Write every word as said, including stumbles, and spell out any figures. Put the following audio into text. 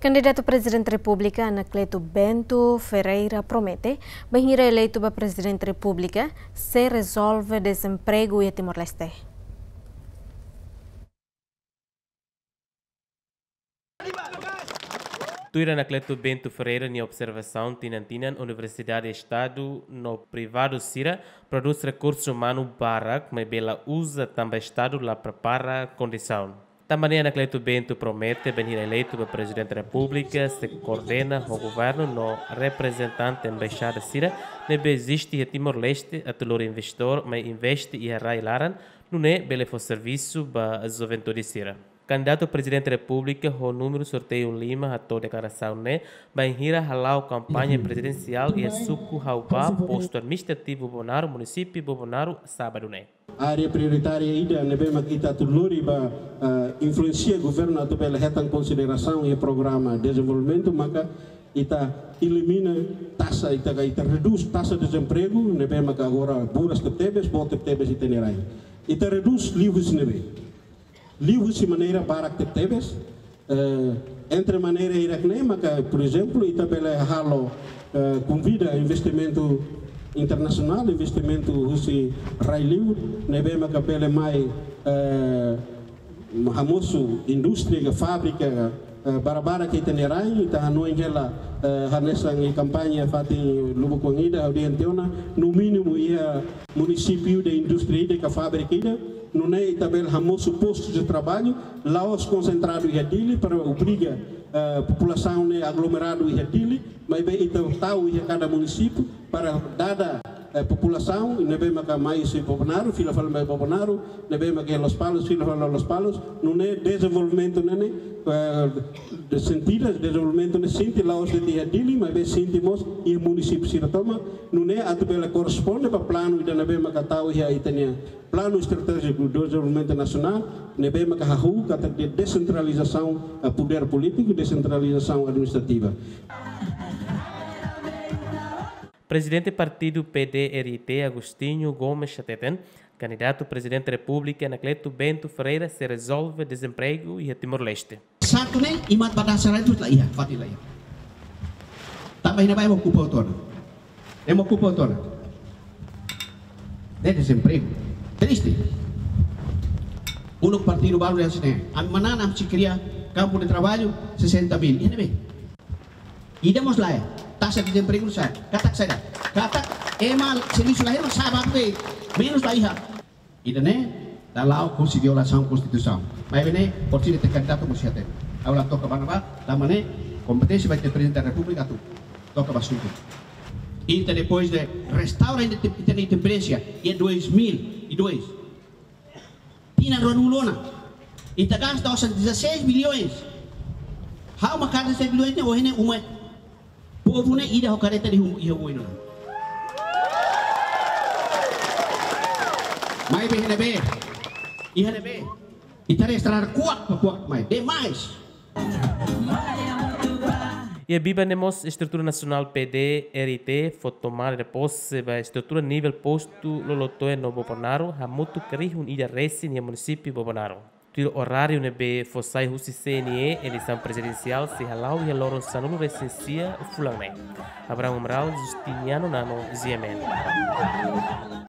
Kandidatu Prezidente Repúblika Anacleto Bento Ferreira promete, bainhira eleitu ba Prezidente Repúblika, sei rezolve dezempregu iha Timor-Leste. Tuir Anacleto Bento Ferreira nia observasaun, tinan-tinan Universidade Estadu no privadu sira prodús rekursu umanu barak, maibé la uza tanba Estadu la prepara kondisaun. Tanba ne'e Anacleto Bento promete, bainhira eleitu ba Prezidente Repúblika, sei koordena ho governu no reprezentante embaixada sira ne'ebé eziste iha Timor-Leste atu lori investidór mai investe iha rai laran, nune'e bele fó servisu ba juventude sira. Kandidatu Prezidente Repúblika ho númeru sorteiu lima hato'o deklarasaun ne'e bainhira hala'o kampaña prezidensiál iha suku Haubá, postu administrativu Bobonaro, munisípiu Bobonaro, sábadu ne'e. Área prioritária ida ne'ebé mak ita atu lori ba, ah, influensia governu atu bele hetan konsiderasaun iha programa dezenvolvimentu, maka ita elimina taxa, ita, ita redús taxa dezempregu ne'ebé maka agora buras tebetebes, boot tebetebes ita-nia rain. Ita redús liuhusi ne'ebé? Liuhusi maneira barak tebetebes, eh, entre maneira hirak-ne'e maka, por ezemplu, ita bele halo, eh, konvida investimentu internasionál, investimentu husi rai-li'ur, ne'ebé maka bele mai, eh, hamosu indústria ka fábrika, eh, barabara iha ita-nia rain, ita hanoin hela, eh, hanesan iha kampaña fatin lubuk oan ida, ha'u dehan tiha ona, no mínimu iha munisípiu ida indústria ida ka fábrika ida, nune'e ita bele hamosu postus de traballu, la'ós konsentradu iha Dili para obriga, eh, populasaun ne'e aglomeradu iha Dili, maibé ita tau iha kada munisípiu para dada, eh, populasaun ne'ebé maka mai husi Bobonaro, fila fali mai Bobonaro, ne'ebé maka Lospalos, fila fali Lospalos, nune'e dezenvolvimentu ne'e, eh, de sentidu, dezenvolvimentu ne'e sente la'ós de'it iha Dili, maibé sente mós iha munisípiu sira tomak, nune'e atu bele korresponde ba planu ida ne'ebé maka tau iha ita-nia Planu Estratéjiku Dezenvolvimentu Nasionál, ne'ebé maka hahú katak desentralizasaun, eh, podér polítiku, desentralizasaun administrativa. Prezidente Partidu P D R I T, Agostinho Gomes hateten, kandidatu Prezidente Repúblika Anacleto Bento Ferreira sei rezolve dezempregu iha Timor-Leste. Satu ne'e, imat ba dasar itu la iha, fatin la iha. Tanba iha ne'ebá ema okupa hotu ona. Ema okupa hotu ona. Ne'e dezempregu. Triste. Uluk partidu balu dehan hanesan ne'e: ami manán, ami sei kria kampu de traballu sesenta mil. Iha ne'ebé? Ida mós la iha. Taxa dezempregu sa'e. Katak saida? Katak ema servisu la iha, ema sa'e ba be. Menus la iha. Ida-ne'e dala husi violasaun Konstituisaun. Maibé ne'e, por sini te kandidatu mós hateten. Ha'u la toka ba ne'ebá, tanba ne'e kompeténsia ba ita-nia Prezidente da Repúblika atu toka ba asuntu. Ita depois de restaura ita, ita-nia independénsia iha dois mil e dois. Tinan ruanulu ona. Ita gasta osan dezasseis bilhões. Ha'u mak dezasseis bilhões ne'e ohin ne'e uma. Povu ne'e ida ho kareta de hum, iha uma ona. Maibé iha ne'ebé? Iha ne'ebé? Ita restaura kuak, kuak mai. Demais. Iha biban ne'e mós estrutura nasionál P D R I T fó tomada de pose ba estrutura nivel postu Lolotoe no Bobonaro, hamutuk rihun ida resin iha munisípiu Bobonaro. Tuir oráriu ne'ebé fó sai husi C N E, eleisaun prezidensiál sei hala'o iha loron sanulu resin sia fulan ne'e. Abraham Amaral, Justiniano Nano, G M N.